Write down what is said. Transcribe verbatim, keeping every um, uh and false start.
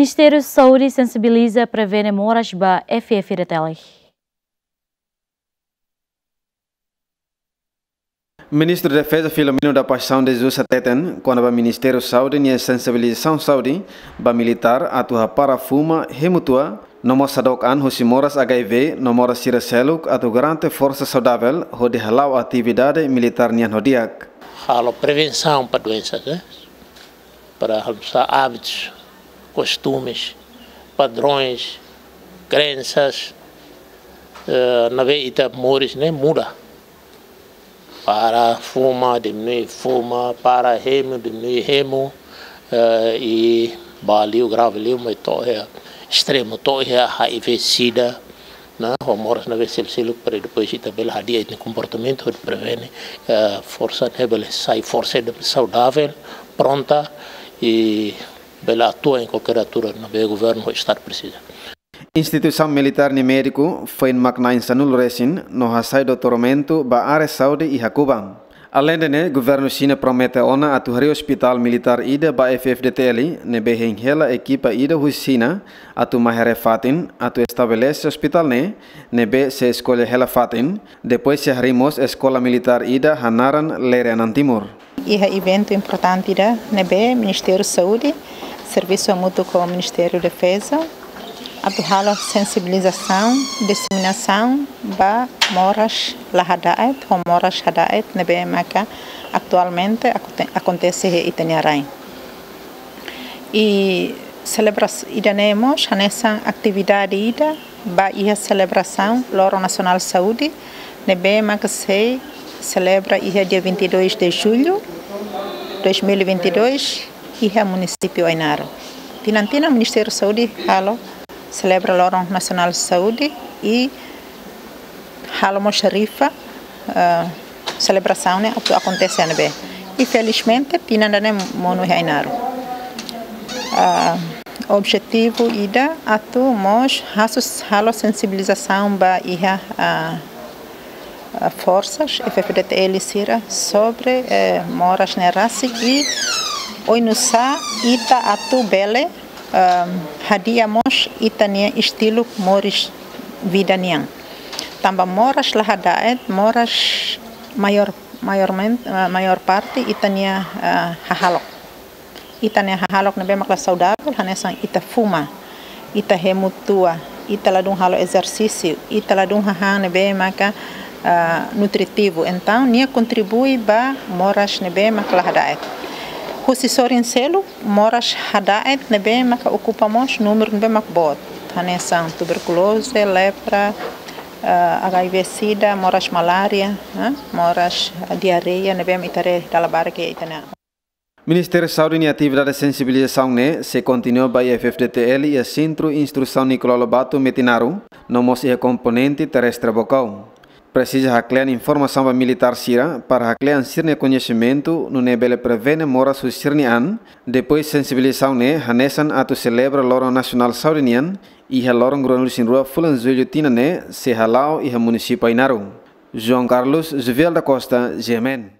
Ministériu Saúde sensibiliza prevene moras ba F F D T L. Ministru Defeza Filomeno da Paixão de Jesus hateten kona-ba Ministériu Saúde nia sensibilizasaun saúde ba militár atu hapara fuma, hemu tua, no mós hadook an husi moras H I V no moras sira seluk atu garante forsa saudavel hodi hala'o atividade militár nian ho di'ak. Halo prevensaun ba doensas, eh? Para almoçar hábitos, costumes, padrões, crenças, eh, ne'ebé ita moris ne'e muda. Para fuma, diminui fuma, para hemu, diminui hemu, eh, i ba liu grave liu, mai to'o iha estremu, to'o iha H I V, SIDA, ne'e, ho moras ne'ebé seluk-seluk, para depois ita bele hadi'a ita-nia komportamentu, hodi prevene, eh, forsa ne'e bele sai forsa ne'ebé saudavel, pronta, i bele atua iha kualkér altura ne'ebé governu ou estadu presiza. Instituisaun militár nia médiku foin mak na'in sanulu resin no hasai doutoramentu ba área saúde iha Kuba. Aleinde ne'e, governu Xina promete ona atu harii ospitál militár ida ba F F D T L, ne'ebé hein hela ekipa ida husi Xina atu mai haree fatin, atu estabelese ospitál ne'e, ne'ebé sei eskolla hela fatin, depois sei harii mós eskola militár ida hanaran Lere Anan Timur. Iha eventu importante ida ne'ebé Ministériu Saúde servisu hamutuk ho Ministériu Defeza atu halo sensibilizasaun, diseminasaun ba moras la hada'et, ho moras hada'et ne'ebé maka atualmente akonte-, akontese iha ita-nia rain. I selebras-, ida-ne'e mós hanesan atividade ida ba iha selebrasaun Loron Nasionál Saúde, ne'ebé maka sei selebra iha dia vinte e dois de julho dois mil e vinte e dois, iha munisípiu Ainaro. Tinan-tinan Ministériu Saúde halo selebra Loron Nasionál Saúde i halo mós rifa, eh, selebrasaun ne'e atu akontese iha ne'ebé. I felizmente, tinan ida-ne'e monu iha Ainaro. Ah, objetivu ida atu mós hasus halo sensibilizasaun ba iha, ah, ah, forsas F F D T L sira sobre, eh, moras ne'e rasik i oinsá ita atu bele, ehm, hadi'a mós ita-nia estilu moris vida nian. Tanba moras la hada'et, moras maior, maiormen-, eh, maior parte ita-nia, eh, hahalok. Ita-nia hahalok ne'ebé mak la saudavel, hanesan ita fuma, ita hemu tua, ita ladún halo ezersísiu, ita ladún hahán ne'ebé maka, ah, nutritivu. Entaun, nia kontribui ba moras ne'ebé mak la hada'et. Husi sorin seluk, moras hada'et ne'ebé maka okupa mós númeru ne'ebé mak boot. Hanesan tuberkuloze, lepra, ah, H I V sida, moras malária, eh, moras, ah, diarreia ne'ebé mak ita haree dala barak iha ita-nia. Ministériu Saúde nia atividade sensibilizasaun ne'e sei kontinua ba iha F F D T L iha Sentru Instrusaun Nicolau Lobato Metinaro, no mós iha komponente terrestre Baucau. Presiza haklean informasaun ba militár sira para haklean sira-nia koñesimentu nune'e bele prevene moras husi sira-nia an, depois sensibilizasaun ne'e hanesan atu selebra Loron Nasionál Saúde nian, iha loron ruanulu-resin-rua fulan Jullu tinan ne'e sei hala'o iha munisípiu Ainaro. João Carlos Zuviel da Costa, G M N.